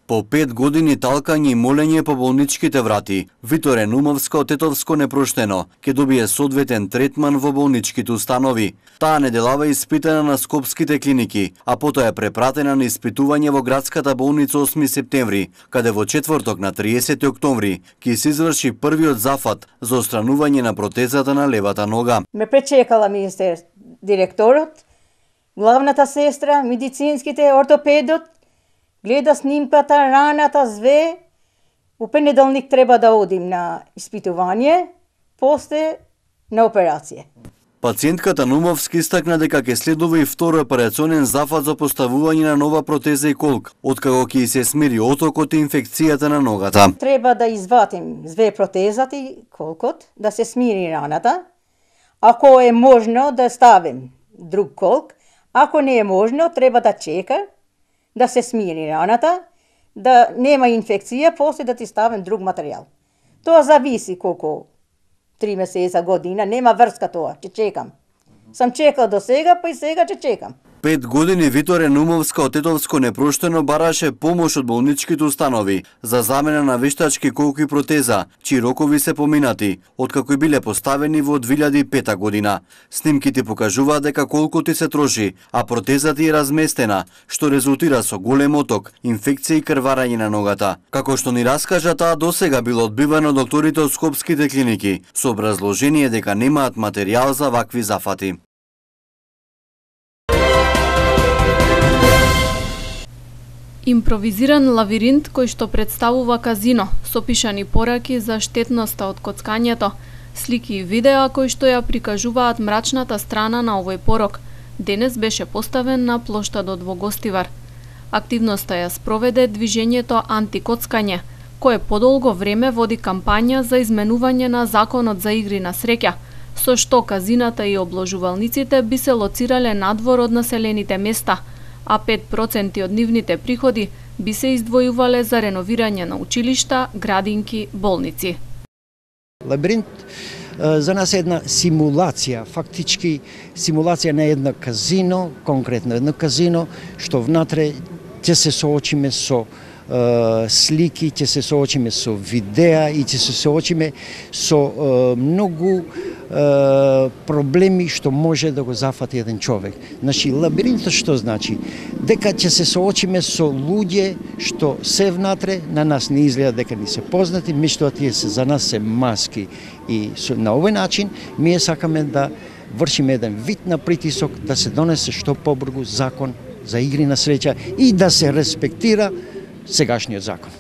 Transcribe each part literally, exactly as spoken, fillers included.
По пет години талкање и молење по болничките врати, Виторе Нумовска од Тетовско непроштено ќе добие соодветен третман во болничките установи. Таа неделава е испитана на скопските клиники, а потоа е препратена на испитување во градската болница осми септември, каде во четврток на триесети октомври ќе се изврши првиот зафат за отстранување на протезата на левата нога. Ме пречекала министер директорот, главната сестра, медицинските, ортопедот, гледа снимката, раната, зве. У понеделник треба да одим на испитување, после на операција. Пациентката Нумовски истакна дека ќе следува и втори операционен зафат за поставување на нова протеза и колк, откако ќе се смири отокот и инфекцијата на ногата. Треба да извадим зве протезата и колкот, да се смири раната. Ако е можно да ставим друг колк, ако не е можно, треба да чека да се смири раната, да нема инфекција, после да ти ставим друг материјал. Тоа зависи колку три месеца, година, нема врска тоа, ќе чекам. Сам чекал до сега, па и сега ќе чекам. Пет години Виторе Нумовска од Тетовско непроштено бараше помош од болничките установи за замена на вештачки колки протеза, чии рокови се поминати, откако биле поставени во две илјади и пета година. Снимките покажуваат дека колкото се троши, а протезата е разместена, што резултира со голем оток, инфекција и крварање на ногата. Како што ни раскажа, таа досега било одбивано докторите од скопските клиники, со образложение дека немаат материјал за вакви зафати. Импровизиран лавиринт кој што представува казино, со пишани пораки за штетноста од коцкањето, слики и видеа кои што ја прикажуваат мрачната страна на овој порок, денес беше поставен на плоштадот во Гостивар. Активноста ја спроведе движењето Антикоцкање, кое подолго време води кампања за изменување на законот за игри на среќа, со што казината и обложувалниците би се лоцирале надвор од населените места, а пет проценти од нивните приходи би се издвојувале за реновирање на училишта, градинки, болници. Лабиринт за нас е една симулација, фактички симулација на едно казино, конкретно едно казино, што внатре ќе се соочиме со слики, ќе се соочиме со видеа и ќе се соочиме со многу проблеми што може да го зафати еден човек. Значи, лабиринтот што значи? Дека ќе се соочиме со луѓе што се внатре, на нас не изгледа дека ни се познати, меѓутоа тие се за нас се маски. И на овој начин ние сакаме да вршиме еден вид на притисок да се донесе што побрзо закон за игри на среќа и да се респектира сегашниот закон.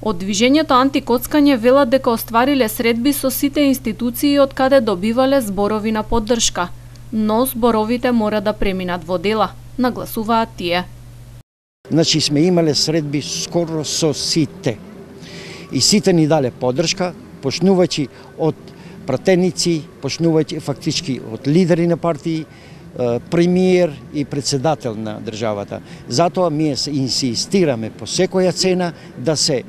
Од движењето Антикоцкање велат дека оствариле средби со сите институции од каде добивале зборови на поддршка, но зборовите мора да преминат во дела, нагласуваат тие. Значи сме имале средби скоро со сите. И сите ни дале поддршка, почнувајќи од пратеници, почнувајќи фактички од лидери на партии, премиер и председател на државата. Затоа ние се инсистираме по секоја цена да се е,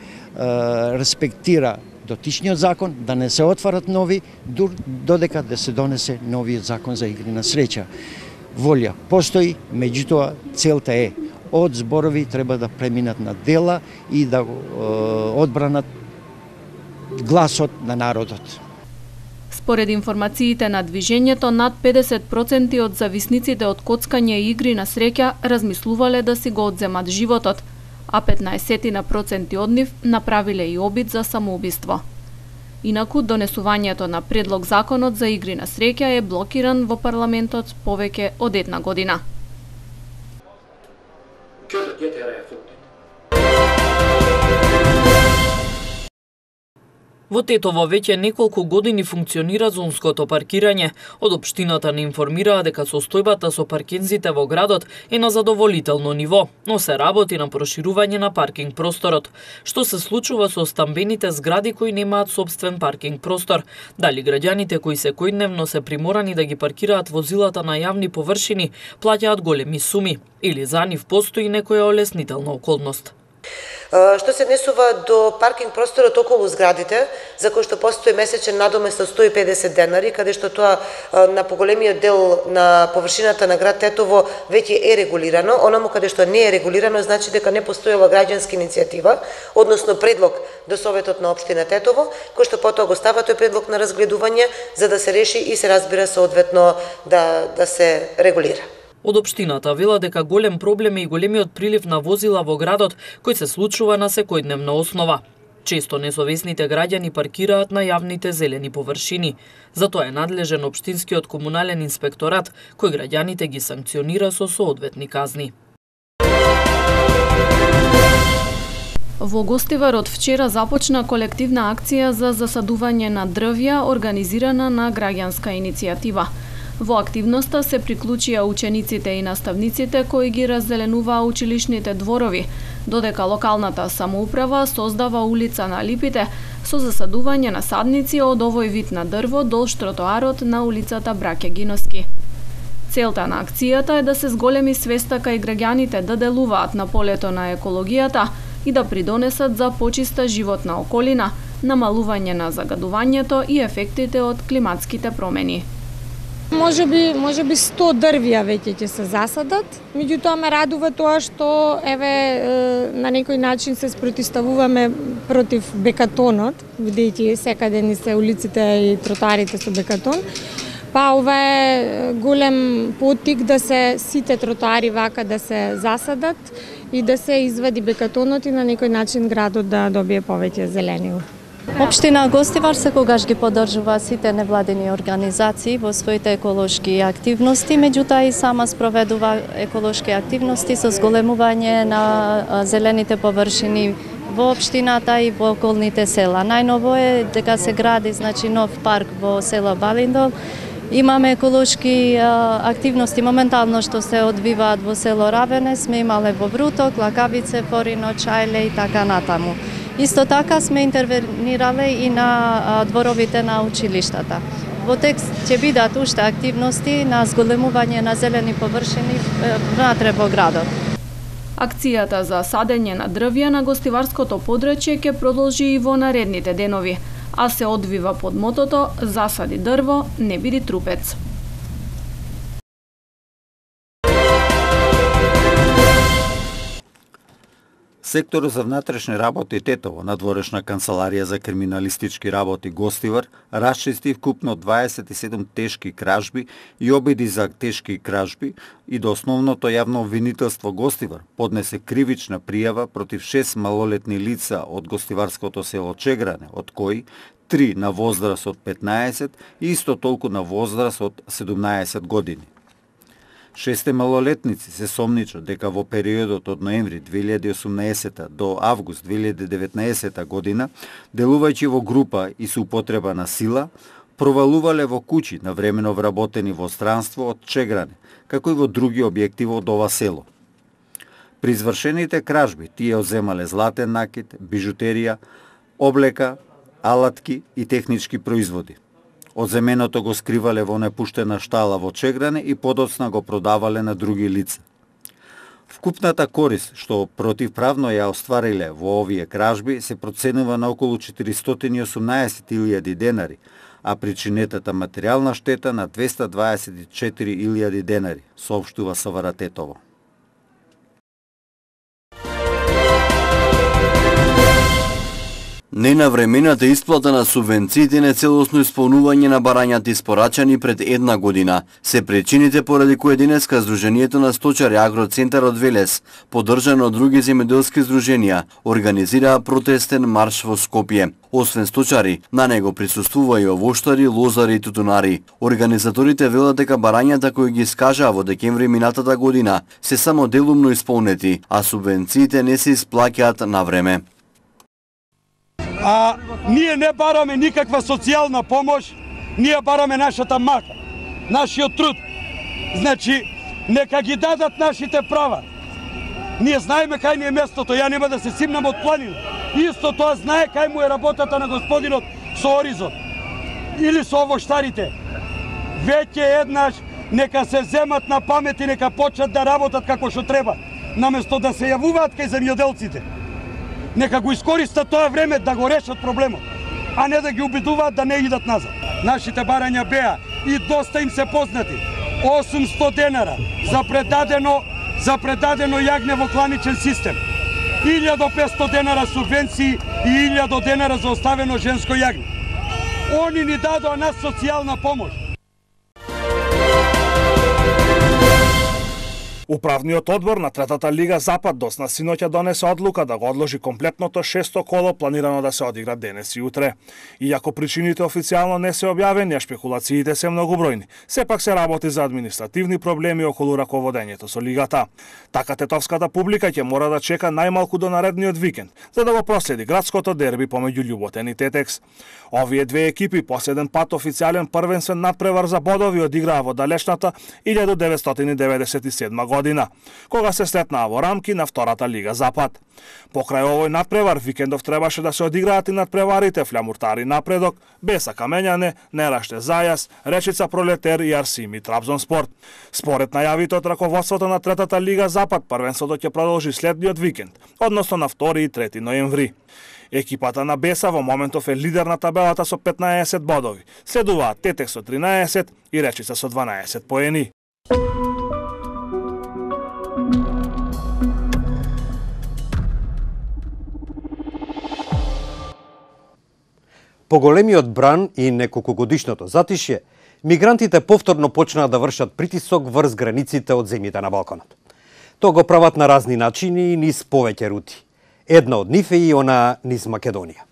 респектира дотичниот закон, да не се отварат нови, додека да се донесе новиот закон за игри на среќа. Волја постои, меѓутоа целта е од зборови треба да преминат на дела и да е, одбранат гласот на народот. Според информациите на движењето, над педесет проценти од зависниците од коцкање и игри на среќа размислувале да си го одземат животот, а петнаесет проценти од нив направиле и обид за самоубиство. Инаку, донесувањето на предлог законот за игри на среќа е блокиран во парламентот повеќе од една година. Во Тетово веќе неколку години функционира зонското паркирање. Од општината не информираа дека состојбата со паркинзите во градот е на задоволително ниво, но се работи на проширување на паркинг просторот. Што се случува со стамбените згради кои немаат сопствен паркинг простор? Дали граѓаните кои секојдневно се приморани да ги паркираат возилата на јавни површини плаќаат големи суми? Или за нив постои некоја олеснителна околност? Што се однесува до паркинг просторот околу зградите, за кој што постои месечен надомест од сто и педесет денари, каде што тоа на поголемиот дел на површината на град Тетово веќе е регулирано, онаму каде што не е регулирано значи дека не постоела граѓанска иницијатива, односно предлог до Советот на општина Тетово, кој што потоа го става тој предлог на разгледување за да се реши и се разбира соодветно да да се регулира. Од општината вела дека голем проблем е и големиот прилив на возила во градот, кој се случува на секојдневна основа. Често несовесните граѓани паркираат на јавните зелени површини. Затоа е надлежен општинскиот комунален инспекторат, кој граѓаните ги санкционира со соодветни казни. Во Гостивар од вчера започна колективна акција за засадување на дрвја организирана на граѓанска иницијатива. Во активноста се приклучија учениците и наставниците кои ги раззеленуваа училишните дворови, додека локалната самоуправа создава улица на Липите со засадување на садници од овој вид на дрво долж тротоарот на улицата Браке Гиноски. Целта на акцијата е да се зголеми свеста кај граѓаните да делуваат на полето на екологијата и да придонесат за почиста животна околина, намалување на загадувањето и ефектите од климатските промени. Може би, може би сто дрвја веќе ќе се засадат, меѓутоа ме радува тоа што еве на некој начин се спротивставуваме против бекатонот, бидејќи секаде ни се улиците и тротоарите со бекатон. Па ова е голем поттик да се сите тротоари вака да се засадат и да се извади бекатонот и на некој начин градот да добие повеќе зелениво. Општина Гостивар секогаш ги поддржува сите невладини организации во своите еколошки активности, меѓутоа и сама спроведува еколошки активности со зголемување на зелените површини во општината и во околните села. Најново е дека се гради значи нов парк во село Балиндол. Имаме еколошки а, активности моментално што се одвиваат во село Равене, сме имале во Вруток, Лакавице, Форино, Чајле и така натаму. Исто така сме интервенирале и на а, дворовите на училиштата. Во текст ќе бидат уште активности на зголемување на зелени површини внатре во градот. Акцијата за садење на дрвја на гостиварското подрачје ќе продолжи и во наредните денови, а се одвива под мотото "Засади дрво, не биди трупец". Секторот за внатрешни работи Тетово, надворешна канцеларија за криминалистички работи Гостивар, расчисти вкупно дваесет и седум тешки кражби и обиди за тешки кражби и до основното јавно обвинителство Гостивар поднесе кривична пријава против шест малолетни лица од гостиварското село Чегране, од кои три на возраст од петнаесет и исто толку на возраст од седумнаесет години. Шесте малолетници се сомничат дека во периодот од ноември две илјади и осумнаесета до август две илјади и деветнаесета година, делувајќи во група и со употреба на сила, провалувале во куќи навремено вработени во странство од Чегране, како и во други објекти од ова село. При извршените кражби тие одземале златен накит, бижутерија, облека, алатки и технички производи. Одземеното го скривале во непуштена штала во Чегране и подоцна го продавале на други лица. Вкупната корист што противправно ја оствариле во овие кражби се проценува на околу четиристотини и осумнаесет илјади денари, а причинетата материјална штета на двесте дваесет и четири илјади денари, соопштува СВР Тетово. Ненавремената исплата на субвенциите на целосно исполнување на барањата испорачани пред една година се причините поради кои денеска Сдруженијето на сточари Агроцентарот Велес, поддржано од други земјоделски здруженија, организираа протестен марш во Скопје. Освен сточари, на него присуствува и овоштари, лозари и тутунари. Организаторите велат дека барањата кои ги искажаа во декември минатата година се само делумно исполнети, а субвенциите не се исплаќаат на време. А ние не бараме никаква социјална помош, ние бараме нашата мака, нашиот труд. Значи, нека ги дадат нашите права. Ние знаеме кај ни е местото, ја нема да се симнам од планина. Исто тоа знае кај му е работата на господинот со Оризон. Или со овоштарите. Веќе еднаш нека се земат на памет и нека почнат да работат како што треба, наместо да се јавуваат кај земјоделците. нека го искористат тоа време да го решат проблемот, а не да ги убедуваат да не идат назад. Нашите барања беа и доста им се познати. осумсто денара за предадено за предадено јагне во кланичен систем. илјада и петсто денара субвенции и илјада денара за оставено женско јагне. Они ни дадоа нас социјална помош. Управниот одбор на Третата лига Запад досна синоќа донесе одлука да го одложи комплетното шесто коло планирано да се одигра денес и утре. Иако причините официјално не се објавени, а шпекулациите се многобројни, сепак се работи за административни проблеми околу раководењето со лигата. Така тетовската публика ќе мора да чека најмалку до наредниот викенд, за да го проследи градското дерби помеѓу Љуботен и Тетекс. Овие две екипи последен пат официјален првенствен надпревар за бодови одиграа во далечната илјада деветстотини деветдесет и седма година, кога се сретнаа во рамки на Втората лига Запад. Покрај овој надпревар, викендов требаше да се одиграат и надпреварите Флямуртари Напредок, Беса Камењане, Нераште Зајас, Речица Пролетер и Арсими Трабзонспорт. Според најавите од раководството на Третата лига Запад, првенството ќе продолжи следниот викенд, односно на втори и трети ноември. Екипата на Беса во моментов е лидер на табелата со петнаесет бодови, следуваат Тетекс со тринаесет и Речица со дванаесет поени. По големиот бран и неколкогодишното затишје, мигрантите повторно почнаа да вршат притисок врз границите од земјите на Балканот. Тоа го прават на разни начини и низ повеќе рути. Една од нив е и она низ Македонија.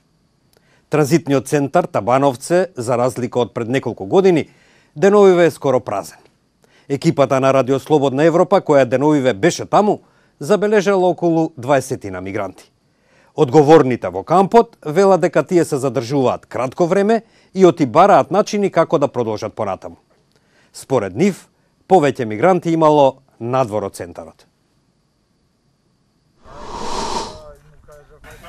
Транзитниот центар Табановце, за разлика од пред неколку години, деновиве е скоро празен. Екипата на Радио Слободна Европа, која деновиве беше таму, забележала околу дваесет на мигранти. Одговорните во кампот велат дека тие се задржуваат кратко време и оти бараат начини како да продолжат понатаму. Според нив, повеќе мигранти имало надвор од центарот.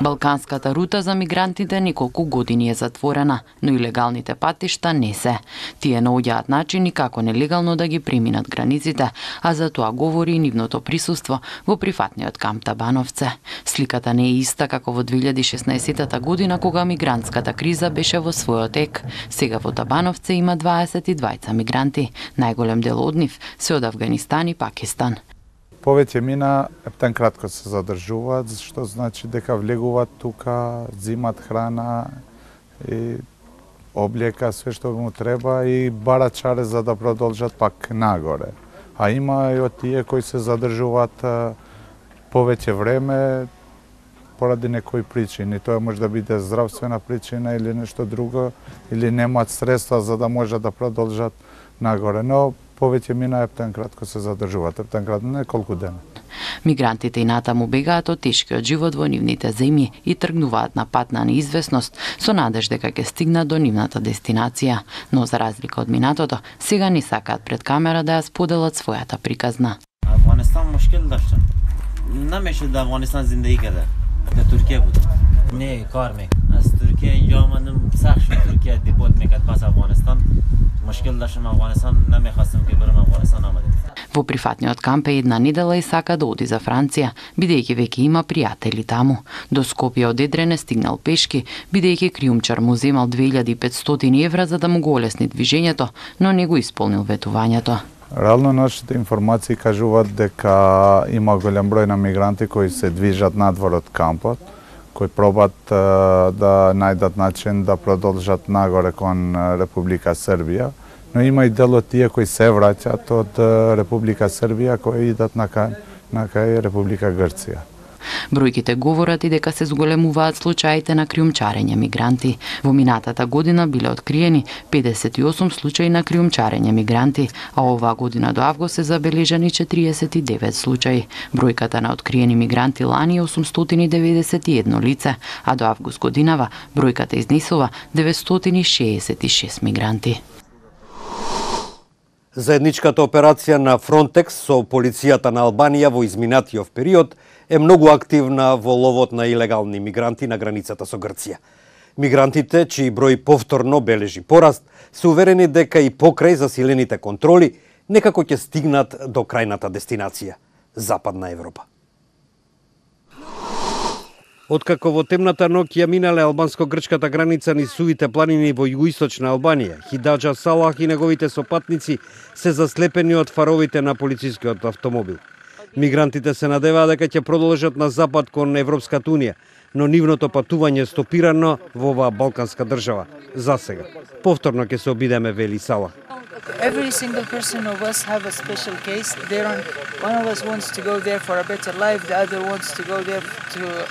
Балканската рута за мигрантите неколку години е затворена, но и легалните патишта не се. Тие наоѓаат начини како нелегално да ги преминат границите, а за тоа говори и нивното присуство во прифатниот камп Табановце. Сликата не е иста како во две илјади и шеснаесетта година, кога мигрантската криза беше во својот ек. Сега во Табановце има дваесет и двајца мигранти. Најголем дел од нив се од Авганистан и Пакистан. Повеќе мина ептен кратко се задржуваат, што значи дека влегуваат тука, зимат храна и облека, све што му треба и барат чаре за да продолжат пак нагоре. А има и од тие кои се задржуваат повеќе време поради некои причини. Тоа може да биде здравствена причина или нешто друго, или немаат средства за да можат да продолжат нагоре. Но повеќе мина ептен кратко се задржуваат, ептен кратко неколку дена. Мигрантите и натаму бегаат од тешкиот живот во нивните земји и тргнуваат на пат на неизвестност со надеж дека ќе стигнат до нивната дестинација, но за разлика од минатото, сега не сакаат пред камера да ја споделат својата приказна. Афганистан мушкил дашта. Намеше да Афганистан зиндагӣ карда. Да Туркия буд. Не, кар мек. Аз Туркия инҷа омадам, сахт шуд Туркия депорт мекард пас Афганистан. Мушкил даштам Афганистан, намехастам ки барам Афганистан омадам. Во прифатниот камп е една недела и сака да оди за Франција, бидејќи веќе има пријатели таму. До Скопје од Едрене стигнал пешки, бидејќи криумчар му земал две илјади и петстотини евра за да му го олесни движењето, но не го исполнил ветувањето. Реално нашите информации кажуваат дека има голем број на мигранти кои се движат надвор од кампот, кои пробат да најдат начин да продолжат нагоре кон Република Србија, но има и дел од тие кои се враќаат од Република Србија, кои идат на кај, на кај Република Грција. Бројките говорат и дека се зголемуваат случаите на криумчарење мигранти. Во минатата година биле откриени педесет и осум случаи на криумчарење мигранти, а оваа година до август се забележани четириесет и девет случаи. Бројката на откриени мигранти лани е осумстотини деветдесет и едно лице, а до август годинава бројката изнесува деветстотини шеесет и шест мигранти. Заедничката операција на Фронтекс со полицијата на Албанија во изминатиот период е многу активна во ловот на илегални мигранти на границата со Грција. Мигрантите, чиј број повторно бележи пораст, се уверени дека и покрај засилените контроли некако ќе стигнат до крајната дестинација – Западна Европа. Откако во темната ноќ ја минале албанско-грчката граница низ сувите планини во југоисточна Албанија, Хидаџа Салах и неговите сопатници се заслепени од фаровите на полицискиот автомобил. Мигрантите се надеваа дека ќе продолжат на запад кон Европската унија, но нивното патување стопирано во оваа балканска држава. За сега. Повторно ќе се обидеме, вели Салах. Every single person of us have a special case. There are, one of us wants to go there for a better life, the other wants to go there to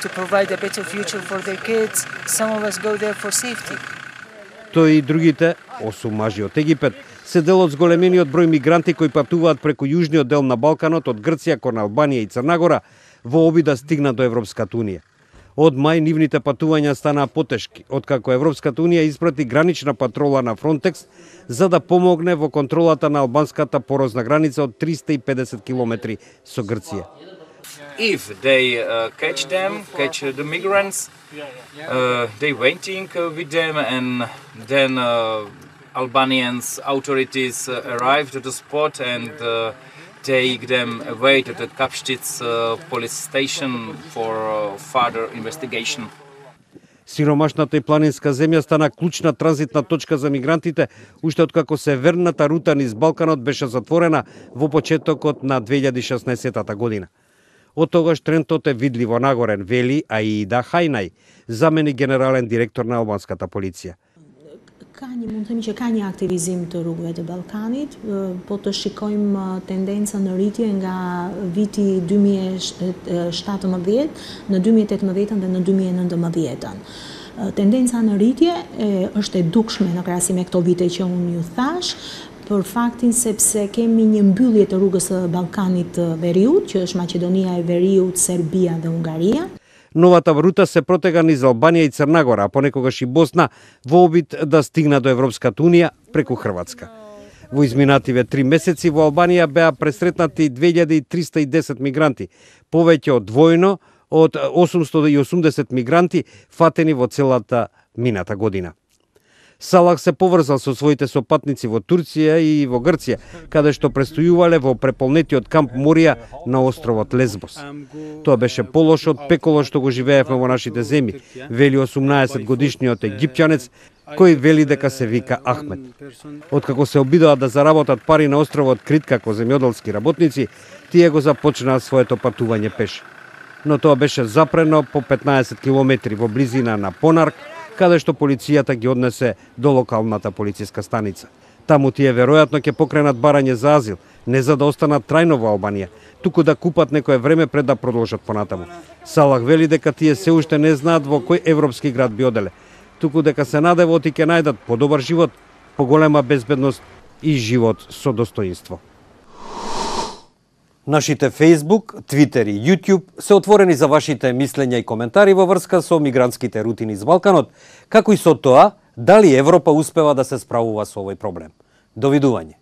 to provide a better future for their kids. Some of us go there for safety. Тој и другите, осум мажи од Египет, се дел од зголемениот број мигранти кои патуваат преку јужниот дел на Балканот од Грција кон Албанија и Црна Гора во обид да стигнат до Европската унија. Од мај нивните патувања станаа потешки, откако Европската унија испрати гранична патрола на Фронтекс за да помогне во контролата на албанската порозна граница од триста и педесет километри со Грција. If they uh, catch them, catch the migrants, uh, they waiting with them, and then uh, Albanians authorities uh, arrive to the spot and uh, take them away to the Kapštits uh, police station for uh, further investigation. Сиромашната и планинска земја стана клучна транзитна точка за мигрантите, уште откако северната рута низ Балканот беше затворена во почетокот на две илјади и шеснаесетта година. Од тогаш трендот е видливо нагорен, вели Аида Хајнај, заменик генерален директор на албанската полиција. Ka një, mund të themi që ka një aktivizim të rrugëve të Ballkanit, po të shikojmë tendencën në rritje nga viti dy mijë e shtatëmbëdhjetë në dy mijë e tetëmbëdhjetën dhe në dy mijë e nëntëmbëdhjetën. Tendenca në rritje e, është e dukshme në krahasim me këto vite që unë ju thash, për faktin sepse kemi një mbyllje të rrugës së Ballkanit të Veriut, që është Maqedonia e Veriut, Serbia dhe Hungaria. Новата рута се протега низ Албанија и Црна Гора, а понекогаш и Босна, во обид да стигна до Европската унија преку Хрватска. Во изминативе три месеци во Албанија беа пресретнати две илјади триста и десет мигранти, повеќе од двојно од осумстотини и осумдесет мигранти фатени во целата мината година. Салах се поврзал со своите сопатници во Турција и во Грција, каде што престојувале во преполнетиот камп Морија на островот Лесбос. Тоа беше полош од пеколо што го живеевме во нашите земји, вели осумнаесет годишниот египтјанец, кој вели дека се вика Ахмед. Откако се обидоа да заработат пари на островот Крит како земјоделски работници, тие го започнаа своето патување пеш. Но тоа беше запрено по петнаесет километри во близина на Понарк, каде што полицијата ги однесе до локалната полициска станица. Таму тие веројатно ќе покренат барање за азил, не за да останат трајно во Албанија, туку да купат некое време пред да продолжат понатаму. Салах вели дека тие се уште не знаат во кој европски град би оделе, туку дека се надевот и ќе најдат подобар живот, поголема безбедност и живот со достоинство. Нашите Facebook, Twitter и YouTube се отворени за вашите мислења и коментари во врска со мигрантските рути низ Балканот, како и со тоа дали Европа успева да се справува со овој проблем. Довидување.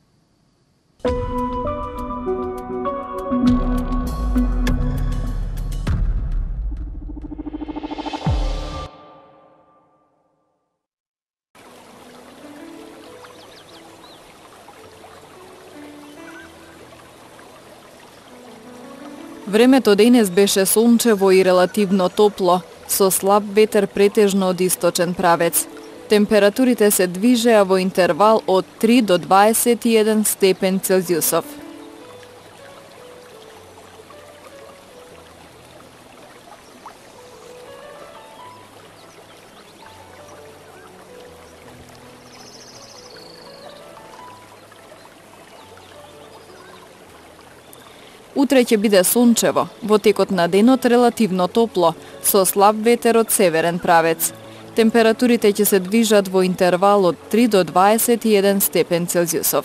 Времето денес беше сончево и релативно топло, со слаб ветер претежно од источен правец. Температурите се движеа во интервал од три до дваесет и еден степен Целзиусов. Утре ќе биде сончево, во текот на денот релативно топло, со слаб ветер од северен правец. Температурите ќе се движат во интервал од три до дваесет и еден степен Целзиусов.